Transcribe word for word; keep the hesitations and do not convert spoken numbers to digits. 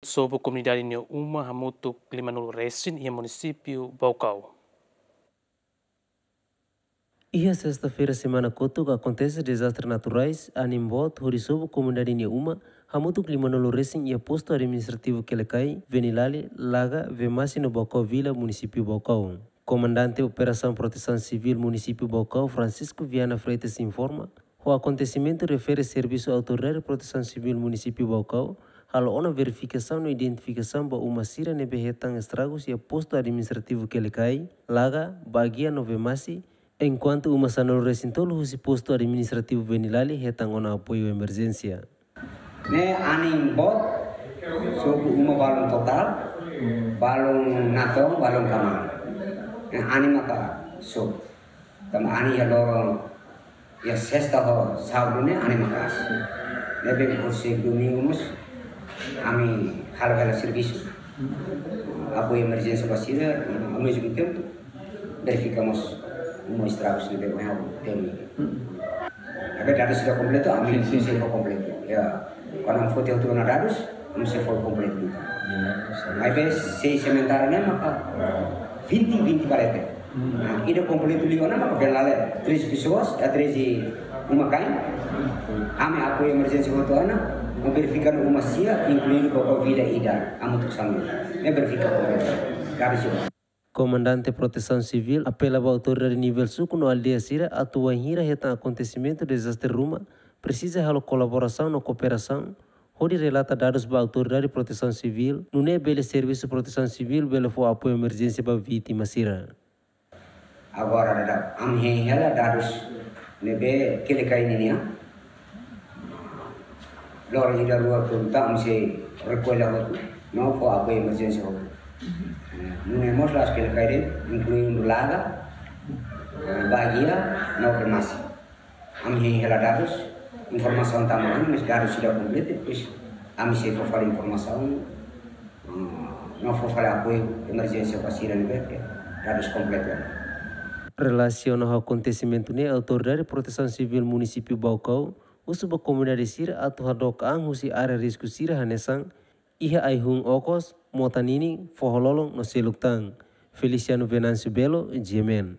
Sobu komunidade nia uma hamutuk lima-nulu resin iha munisípiu Baucau. Iha sesta-feira semana kotuk akontese dezastre naturais, anin boot, hodi sobu komunidade nia uma, hamutuk lima-nulu resin iha postu administrativu Quelicai, Venilali, Laga, Vemasse no Baucau Vila, munisípiu Baucau. Komandante Operasaun Protesaun Sivíl Munisípiu Baucau, Francisco Viana Freitas, informa, ho akontesimentu refere servisu Autoridade Protesaun Sivíl Munisípiu Baucau halo ona verifikasaun no identifikasaun ba uma sira ne'ebé hetan estragus iha postu administrativu Quelicai, Laga, Baguia no Vemasse, enkuantu uma sanulu resin tolu husi postu administrativu Venilali hetan ona apoiu emerjénsia. Ne'e anin boot, sobu uma balun totál, balun natoon, balun kamar. Ne'e anin maka sobu. Tanba anin iha loron, iha sesta ho sábadu ne'e anin maka'as. Ne'ebé hosi domingu mós ami halo hela servisu. Apoiu emerjénsia ba sira, ao mesmo tempo verifika mós uma estragus ne'ebé ohin ha'u temi. Ne'ebé dadus sira kompletu, ami Sin, sin. sei fó kompletu. Ya, kuandu fó tiha ona dadus, ami sei fó kompletu. Maibé sei sementara ne'e maka vinte, vinte balete. Nah, ida kompletu liu ona maka Venilali, três pessoas, eh, treze uma-kain. Ami apoiu emerjénsia hotu ona, ami verifika uma sia, inkluidu Baucau Vila ida, hamutuk sanulu. Ne'e verifika kompletu. Dadus sira. Komandante Protesaun Sivíl apela ba autoridade nivel suku no aldeia sira atu wainhira hetan akontesimentu dezastre ruma, presiza halo kolaborasaun no kooperasaun, hodi relata dadus ba Autoridade Protesaun Sivíl, nune'e bele Servisu Protesaun Sivíl bele fó apoiu emerjénsia ba vítima sira. Agora, dada, ami hein hela dadus ne'ebé Quelicai nian. Loron ida rua tun ta ami sei rekolla hotu, no fó apoiu emerjénsia hotu. Eh, nune'e mós la'ós Quelicai de'it, inkluidu Laga, eh, Baguia, no Vemasse. Ami hein hela dadus, informasaun tama ona, mas dadus sira kompletu, depois ami sei fó fali informasaun, mm, no fó fali apoiu emerjénsia ba sira ne'ebé dadus kompletu. Relasiona ho akontesimentu ne'e, Autoridade Protesaun Sivíl Munisípiu Baucau husu ba komunidade sira atu hadook an husi área risku sira hanesan iha ai-hun okos, mota ninin, foho-lolon no seluk tan. Feliciano Venâncio Belo, G M N.